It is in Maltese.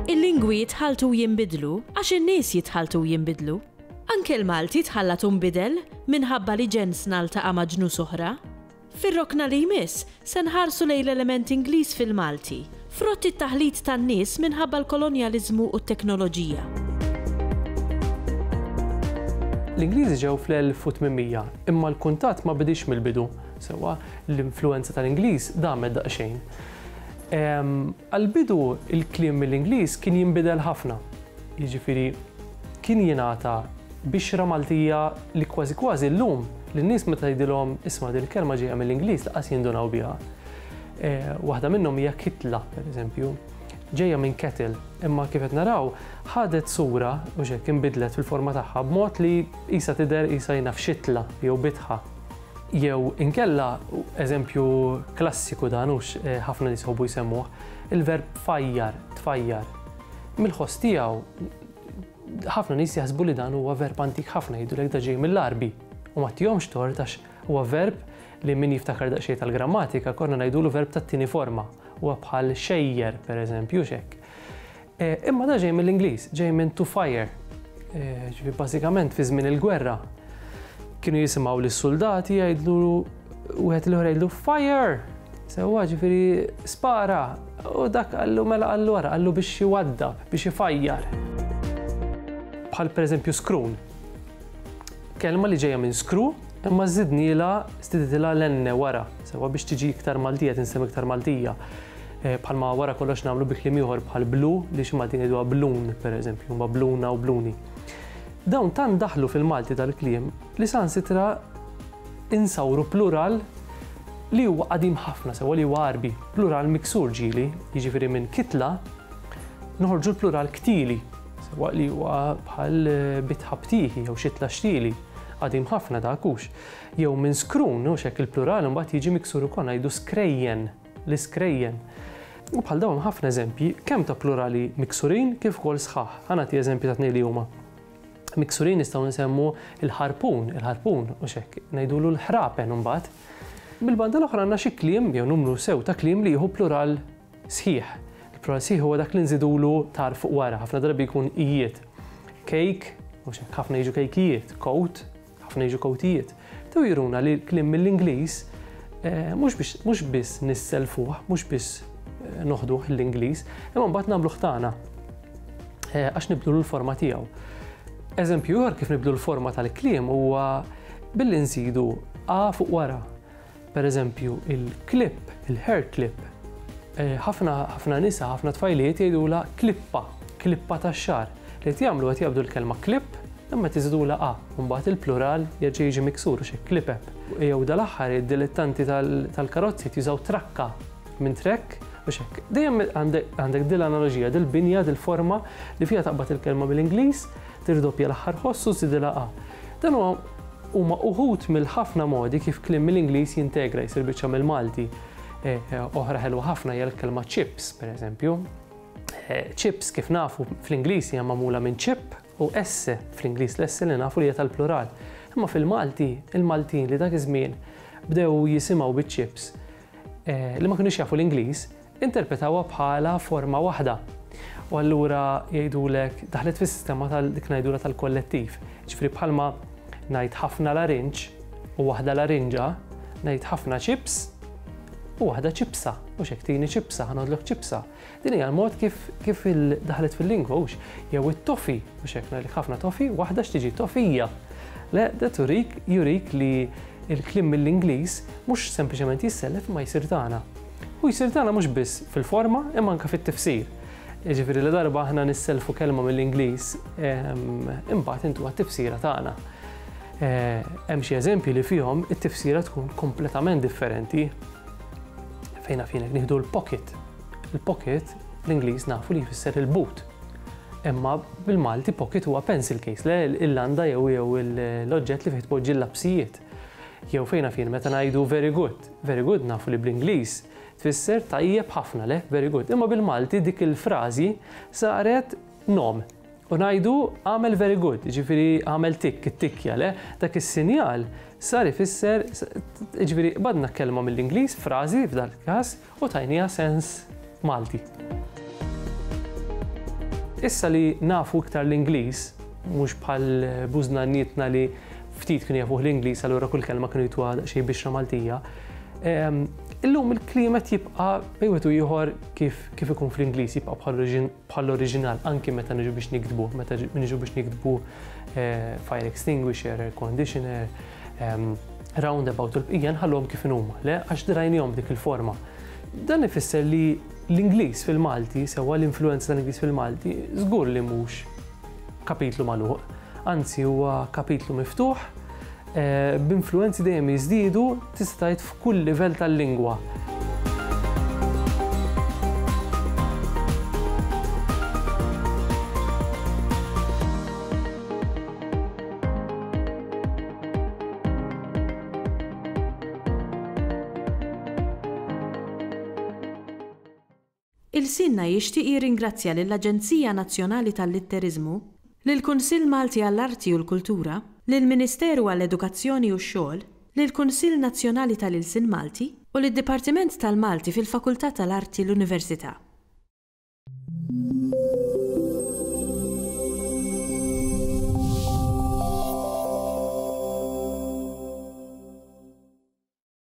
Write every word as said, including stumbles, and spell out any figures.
Il-lingwi jitħaltu jinbidlu għax in-nies jitħaltu jinbidlu. Anke l-Malti tħallat u nbidel minħabba li ġensna ltaqa' ma' ġnus oħra. Fir-rokna li jmiss se nħarsu lejn l-element Ingliż fil-Malti, frott it-taħlit tan-nies minħabba l-kolonjaliżmu u t-teknoloġija. L-Ingliżi ġew fl-elf u tmien mija, imma l-kuntatt ma bidix mill-bidu. Sewwa, l-influenza tal-Ingliż damet daqsxejn. Għal-bidu il-kliem mill-Ingliż kien jinbidel ħafna. Jiġifieri kien jingħata bixra Maltija li kważi kważi llum lin-nies meta jgħidilhom isma' din il-kelma ġejja mill-Ingliż laqas jindunaw biha. Waħda minnhom hija kitla, pereżempju, ġejja minn kettle, imma kif qed naraw ħadet sura u x'hekk inbidlet fil-forma tagħha b'mod li qisha tidher qisha jiena f'xitla jew bitħa. Jew inkella, eżempju klassiku dan hux ħafna nies jħobbu jsemmuh, il-verb fajjar, tfajjar. Mill-ħoss tiegħu ħafna nies jaħsbu li dan huwa verb antik ħafna, jgħidulek da ġej mill-Għarbi. U ma tihomx tort għax huwa verb li min jiftakar daqsxejn tal-grammatika konna ngħidulu verb tat-tieni forma. Huwa bħal xejjer, pereżempju, x'hekk. Imma da ġej mill-Ingliż, ġej minn to fire. Ġifieri bażikament fi żmien il-gwerra kienu jisimgħu lis-soldati jgħidlu wieħed l-ieħor jgħidlu fire. Sewwa ġifieri spara. U dak qallu mela qallu wara, qallu biex iwaddab, biex ifajjar. Bħal pereżempju skrun. Kelma li ġejja minn skru, imma żidnilha, żdiditilha l-enne wara, sewwa biex tiġi iktar Maltija, tinsem iktar Maltija. Bħalma wara kollox nagħmlu bi kliem ieħor bħal blu, li xi Maltin jgħiduha blun, pereżempju, huma bluna u bluni. Dawn tant daħlu fil-Malti tal-kliem li sansitra insawru plural li huwa qadim ħafna, sewwa li huwa Għarbi, plural miksur ġieli, jiġifieri minn kitla noħorġu l-plural ktili, sewwa li huwa bħal bitħa btieħi jew xitla xtieli, qadim ħafna dak hux. Jew minn skrun, hux hekk il-plural imbagħad jiġi miksur ukoll ngħidu skrejjen, l-iskrejjen. U bħal dawn ħafna eżempji kemm ta' plurali miksurin kif ukoll sħaħ. Ħa nagħti eżempji ta' tnejn li huma. Miksurin nistgħu nsemmu il-ħarpun, il-ħarpun, u x'hekk, ngħidulu l-ħrapen imbagħad. Bil-banda l-oħra għandna xi kliem jew numru sew ta' kliem li jieħu plural sħiħ. Il-plural sħiħ huwa dak li nżidulu tar fuq wara, ħafna drabi jkun ijiet. Cake, u x'hekk, ħafna jiġu kejkijiet, coat, ħafna jiġu coatijiet. Tew juruna li l-kliem mill-Ingliż mhux biex, mhux biss nisselfuh, mhux biss noħduh l-Ingliż, imma mbagħad nagħmluh tagħna għax nibdlu l-forma tiegħu. Eżempju ieħor kif nibdlu l-forma tal-kliem huwa billi nżidu a fuq wara. Per eżempju, il-clip, il-hair clip, ħafna, ħafna nisa, ħafna tfajliet jgħidulha klippa, klippa tax-xagħar. Li qed jagħmlu qed jaqbdu l-kelma clip imma tiżidulha a, u mbagħad il-plural jerġa' jiġi miksur u xi klipep. Jew dal-aħħar id-dilettanti tal-karozzi jużaw trakka minn trek u x'hekk. Dejjem għandek din l-analoġija, dil-binja, dil-forma li fiha taqbad il-kelma mill-Ingliż, tirdoppja l-aħħar ħoss u żidilha a. Dan huwa huma uħud mill-ħafna modi kif kliem mill-Ingliż jintegra jsir biċċa mill-Malti. Oħra ħelwa ħafna hija l-kelma chips, pereżempju. Chips kif nafu fl-Ingliż hija magħmula minn chip u S, fl-Ingliż l-S li nafu li hija tal-plural. Imma fil-Malti, il-Maltin li dak iż-żmien bdew jisimgħu biċ-chips li ma kinux jafu l-Ingliż, interpretawha bħala forma waħda. U allura jgħidulek daħlet fis-sistema tal dik ngħidulha tal-kollettiv. Ġifieri bħalma ngħid ħafna larinġ u waħda larinġa, ngħid ħafna chips u waħda ċipsa, u x'hekk tini ċipsa, ħa noħodlok ċipsa. Din hija l-mod kif, kif daħlet fil-lingwa, hux jew it-tofi, u x'hekk ngħidlek ħafna tofi, waħda x'tiġi tofija. Le, da turik jurik li il-kliem mill-Ingliż mhux sempliċement jissellef ma jsir tagħna. U jsir tagħna mhux biss fil-forma imma anke fit-tifsir. Jiġifieri li darba aħna nisselfu kelma mill-Ingliż, imbagħad intuha t-tifsira tagħna. Hemm xi eżempji li fihom it-tifsira tkun kompletament differenti. Fejna finek nieħdu l-pocket. Il-pocket bl-Ingliż nafu li jfisser il-but. Imma bil-Malti pocket huwa pencil case, le il-landa jew jew l-oġġett li fih tpoġġi l-lapsijiet. Jew fejna fien meta ngħidu very good. Very good nafu li bl-Ingliż tfisser tajjeb ħafna, le very good. Imma bil-Malti dik il-frażi saret nom. U ngħidu għamel very good, jiġifieri għamel tikk, it-tikkja, le dak is-sinjal sar ifisser, jiġifieri badna kelma mill-Ingliż, frażi f'dal każ, u tajniha sens Malti. Issa li nafu iktar l-Ingliż, mhux bħal bużnannietna li ftit kienu jafuh l-Ingliż, allura kull kelma kienu jtuha daqsxejn bixra Maltija. Illum il-kliem qed jibqa' bejn wieħed u ieħor kif kif ikun fl-Ingliż, jibqa' bħall-oriġinal anki meta niġu biex niktbu, meta niġu biex niktbu fire extinguisher, air conditioner, roundabout u l-bqija nħalluhom kif inhuma, le għax drajnihom dik il-forma. Dan ifisser li l-Ingliż fil-Malti, sewwa l-influenza tal-Ingliż fil-Malti, żgur li mhux kapitlu magħluq, anzi huwa kapitlu miftuħ, b'influenzi dejjem jiżdiedu tista' tgħid f'kull livell tal-lingwa. Ilsienna jixtieq jirringrazzja lill-Aġenzija Nazzjonali tal-Litteriżmu, lill-Kunsill Malti għall-Arti u l-Kultura, lill-Ministeru għall-Edukazzjoni u x-Xogħol, lill-Kunsill Nazzjonali tal-Ilsien Malti u lid-Dipartiment tal-Malti fil-Fakultà tal-Arti l-Università.